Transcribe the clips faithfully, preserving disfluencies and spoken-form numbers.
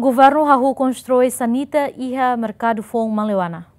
Governu hahú konstrui sanita iha merkadu foun Manleuana.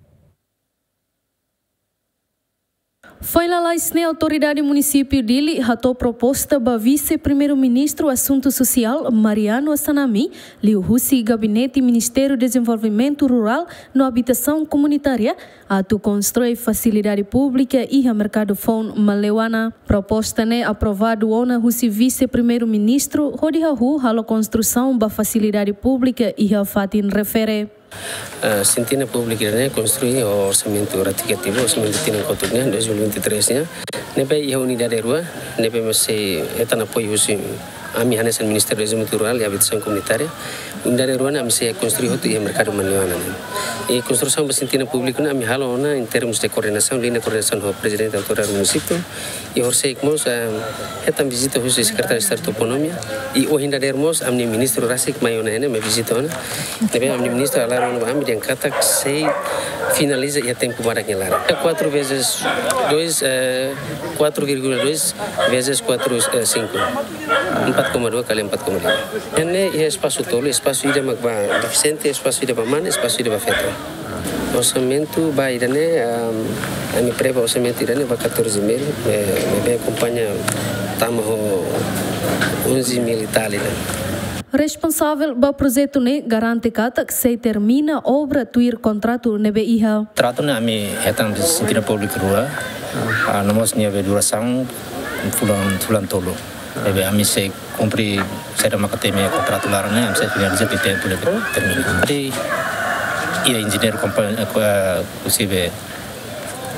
Fali lalais ne'e, Autoridade Munisípiu Dili hato'o proposta ba Vise-Primeiru-Ministru Asuntu Sosiál, Mariano Assanami, liuhusi Gabinete Ministériu Dezenvolvimentu Rurál no Abitasaun Komunitária, atu konstrui fasilidade públika iha merkadu foun Manleuana. Proposta ne'e aprovadu ona husi Vise-Primeiru-Ministru, hodi hahú halo konstrusaun ba fasilidade públika iha fatin refere. Eh, sanita públika ne'e konstrui ho orsamentu retikativu, orsamentu tinan kotuk nian, dois mil e vinte e três nian. Ne'ebé iha unidade rua, ne'ebé mós sei hetan apoiu husi ami hanesan Ministériu Dezenvolvimentu Rurál i Abitasaun Komunitária. Unidade rua ne'e ami sei konstrui hotu iha merkadu Manleuana ne'e. I konstrusaun ba sanita públika ne'e ami halo ona em termos de koordenasaun, liña koordenasaun ho Prezidente Autoridade Munisípiu. I horisehik mós, eh, hetan vizita husi Sekretáriu Estadu Toponímia. I ohin dadeer mós ami-nia ministru rasik mai ona iha ne'e, mai vizita ona. Ne'ebé ami-nia ministru hakarak ona ba ami dehan katak sei finaliza iha tempu badak nia laran. Quatro vezes dois, eh, quatro vírgula dois vezes quatro, eh, cinco. Empat koma dua kali empat koma lima. Ne'e iha espasu tolu, espasu ida mak ba defisiente, espasu ida ba mane, espasu ida ba feto. Orsamentu ba ida-ne'e, am, ami prevee orsamentu ida-ne'e ba catorze mil, eh, ne'ebé akompaña tama ho onze mil e tal ida. Responsavel ba projetu ne'e garante katak sei termina obra tuir kontratu ne'ebé iha. Kontratu ne'e ami hetan sanita públika rua, ah, no mós nia be durasaun fulan, fulan tolu. Ne'ebé ami sei kumpre saida maka temi kontratu laran ne'e, ami sei finaliza iha tempu ne'ebé termina. Jadi, iha enjeñeiru kompañia, eh, ko-, eh, husi be,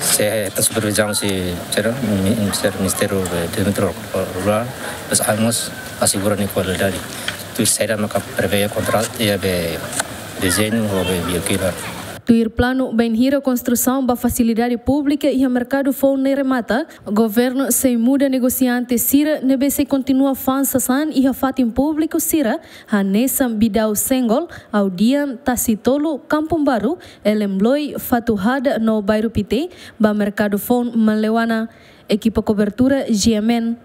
sei hetan supervizaun husi, saida, mi-, Ministériu, Ministériu, eh, Dezenvolvimentu Rurál, mas ami mós asegura nia kualidade. Tuir saida maka prevee kontratu, iha be dezeñu, ho be biokila. Tuir planu, bainhira konstrusaun ba fasilidade públika iha merkadu foun ne'e remata, governu sei muda negosiante sira ne'ebé sei kontinua fa'an sasán iha fatin públiku sira, hanesan Bidau Senggol, Audian, Tasi Tolu, Kampung Baru, Ellen Bloy, Fatuhada no Bairru Pité, ba merkadu foun Manleuana. Ekipa kobertura G M N.